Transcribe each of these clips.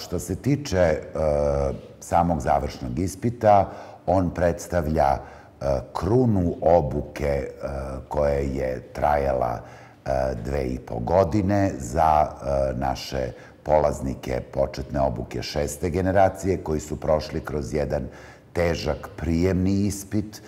što se tiče samog završnog ispita, on predstavlja krunu obuke koja je trajala 2,5 godine za naše polaznike početne obuke 6. generacije koji su prošli kroz jedan težak prijemni ispit.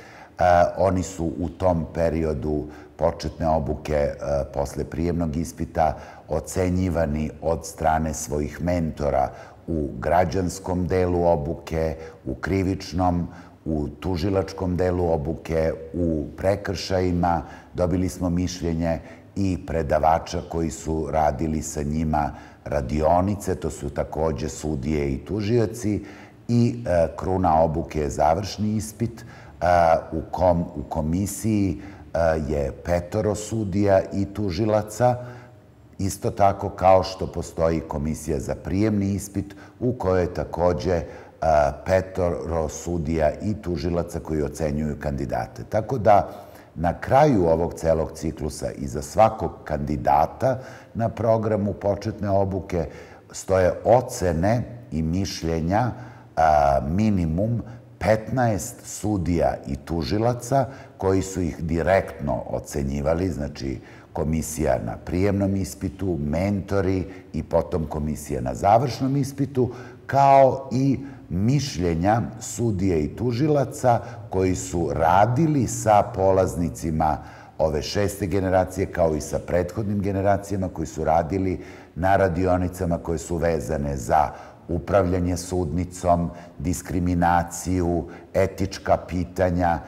Oni su u tom periodu početne obuke posle prijemnog ispita ocenjivani od strane svojih mentora u građanskom delu obuke, u krivičnom, u tužilačkom delu obuke, u prekršajima. Dobili smo mišljenje i predavača koji su radili sa njima radionice, to su takođe sudije i tužioci, i kruna obuke je završni ispit u komisiji je 5 sudija i tužilaca, isto tako kao što postoji komisija za prijemni ispit u kojoj je takođe 5 sudija i tužilaca koji ocenjuju kandidate. Tako da na kraju ovog celog ciklusa i za svakog kandidata na programu početne obuke stoje ocene i mišljenja minimum 15 sudija i tužilaca koji su ih direktno ocenjivali, znači komisija na prijemnom ispitu, mentori i potom komisija na završnom ispitu, kao i mišljenja sudija i tužilaca koji su radili sa polaznicima ove 6. generacije, kao i sa prethodnim generacijama koji su radili na radionicama koje su vezane za upravljanje sudnicom, diskriminaciju, etička pitanja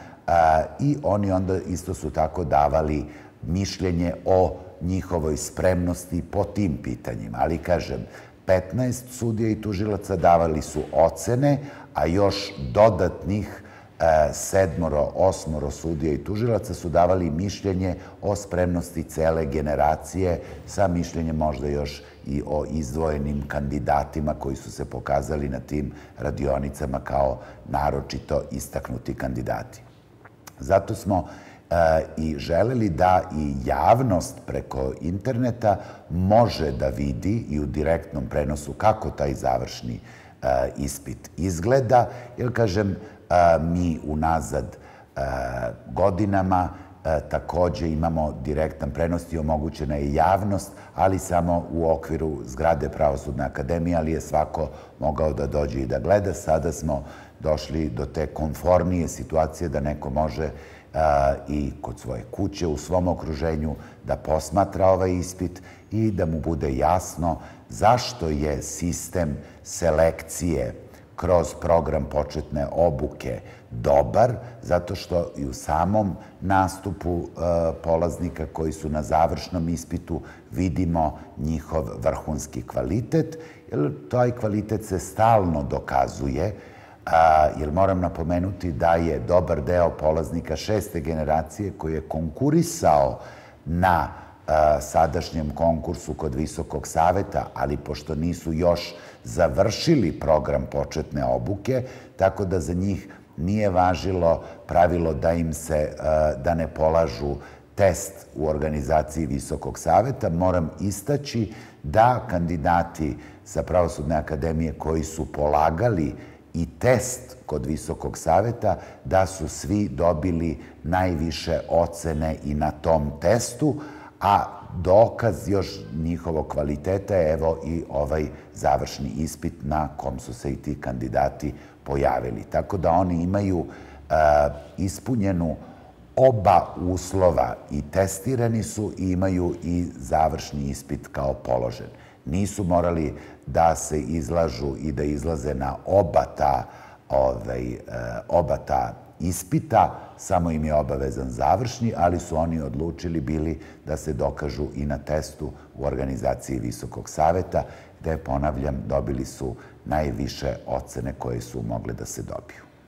i oni onda isto su tako davali mišljenje o njihovoj spremnosti po tim pitanjima. Ali, kažem, 15 sudija i tužilaca davali su ocene, a još dodatnih 7, 8 sudija i tužilaca su davali mišljenje o spremnosti cele generacije, sa mišljenjem možda još i o izdvojenim kandidatima koji su se pokazali na tim radionicama kao naročito istaknuti kandidati. Zato smo i želeli da i javnost preko interneta može da vidi i u direktnom prenosu kako taj završni ispit izgleda, jer, kažem, mi unazad godinama takođe imamo direktan prenos i omogućena je javnost, ali samo u okviru zgrade Pravosudne akademije, ali je svako mogao da dođe i da gleda. Sada smo došli do te komfornije situacije da neko može i kod svoje kuće, u svom okruženju, da posmatra ovaj ispit i da mu bude jasno zašto je sistem selekcije kroz program početne obuke dobar, zato što i u samom nastupu polaznika koji su na završnom ispitu vidimo njihov vrhunski kvalitet, jer taj kvalitet se stalno dokazuje, jer moram napomenuti da je dobar deo polaznika 6. generacije koji je konkurisao na sadašnjem konkursu kod Visokog saveta, ali pošto nisu još završili program početne obuke, tako da za njih nije važilo pravilo da ne polažu test u organizaciji Visokog saveta. Moram istaći da kandidati sa Pravosudne akademije koji su polagali i test kod Visokog saveta, da su svi dobili najviše ocene i na tom testu, a dokaz još njihovog kvaliteta je evo i ovaj završni ispit na kom su se i ti kandidati pojavili. Tako da oni imaju ispunjenu oba uslova, i testirani su i imaju i završni ispit kao položen. Nisu morali da se izlažu i da izlaze na oba ta ispita, samo im je obavezan završni, ali su oni odlučili bili da se dokažu i na testu u organizaciji Visokog saveta, gde, ponavljam, dobili su najviše ocene koje su mogle da se dobiju.